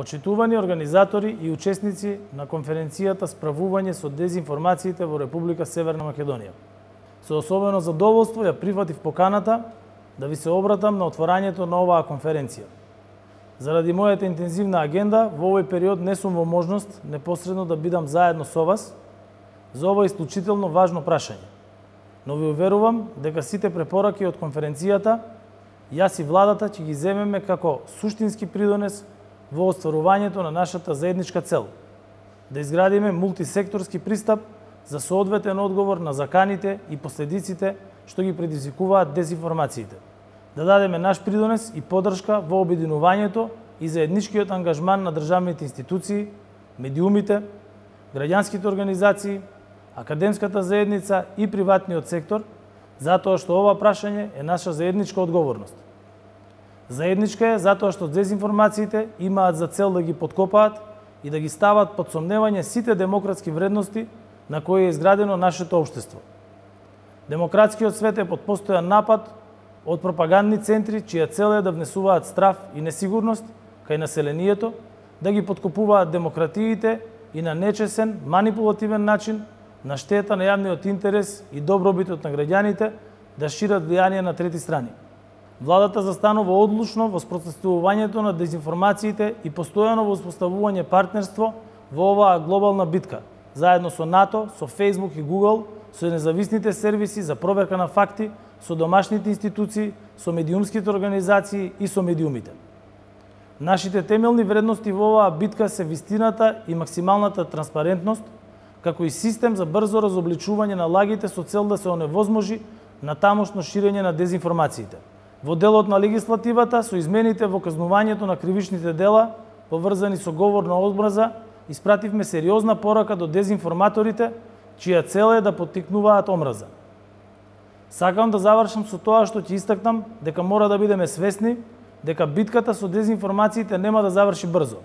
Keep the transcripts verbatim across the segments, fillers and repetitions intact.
Почитувани организатори и учесници на конференцијата Справување со дезинформациите во Република Северна Македонија. Со особено задоволство ја прифатив поканата да ви се обратам на отворањето на оваа конференција. Заради мојата интензивна агенда, во овој период не сум во можност непосредно да бидам заедно со вас за ова исклучително важно прашање. Но ви уверувам дека сите препораки од конференцијата јас и владата ќе ги земеме како суштински придонес во остварувањето на нашата заедничка цел – да изградиме мултисекторски пристап за соодветен одговор на заканите и последиците што ги предизвикуваат дезинформациите, да дадеме наш придонес и поддршка во обединувањето и заедничкиот ангажман на државните институции, медиумите, граѓанските организации, академската заедница и приватниот сектор, затоа што ова прашање е наша заедничка одговорност. Заедничка е затоа што дезинформациите имаат за цел да ги подкопаат и да ги стават под сомневање сите демократски вредности на кои е изградено нашето општество. Демократскиот свет е под постојан напад од пропагандни центри чија цел е да внесуваат страв и несигурност кај населението, да ги подкопуваат демократиите и на нечесен, манипулативен начин на штета на јавниот интерес и добробитот на граѓаните да шират влијание на трети страни. Владата застанува одлучно во спротивувањето на дезинформациите и постојано во успоставување партнерство во оваа глобална битка, заедно со НАТО, со Facebook и Google, со независните сервиси за проверка на факти, со домашните институции, со медиумските организации и со медиумите. Нашите темелни вредности во оваа битка се вистината и максималната транспарентност, како и систем за брзо разобличување на лагите со цел да се оневозможи на тамошно ширење на дезинформациите. Во делот на легислативата, со измените во казнувањето на кривичните дела, поврзани со говор на омраза, испративме сериозна порака до дезинформаторите, чија цел е да поттикнуваат омраза. Сакам да завршам со тоа што ќе истакнам дека мора да бидеме свесни дека битката со дезинформациите нема да заврши брзо.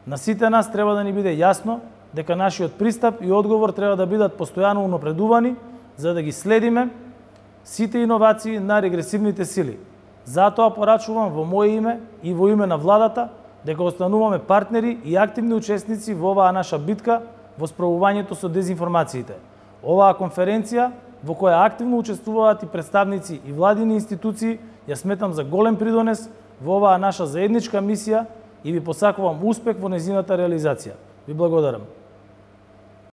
На сите нас треба да ни биде јасно дека нашиот пристап и одговор треба да бидат постојано унапредувани за да ги следиме сите иновации на регресивните сили. Затоа порачувам во моје име и во име на владата дека остануваме партнери и активни учесници во оваа наша битка во справувањето со дезинформациите. Оваа конференција, во која активно учествуваат и представници и владини институции, ја сметам за голем придонес во оваа наша заедничка мисија и ви посакувам успех во нејзината реализација. Ви благодарам.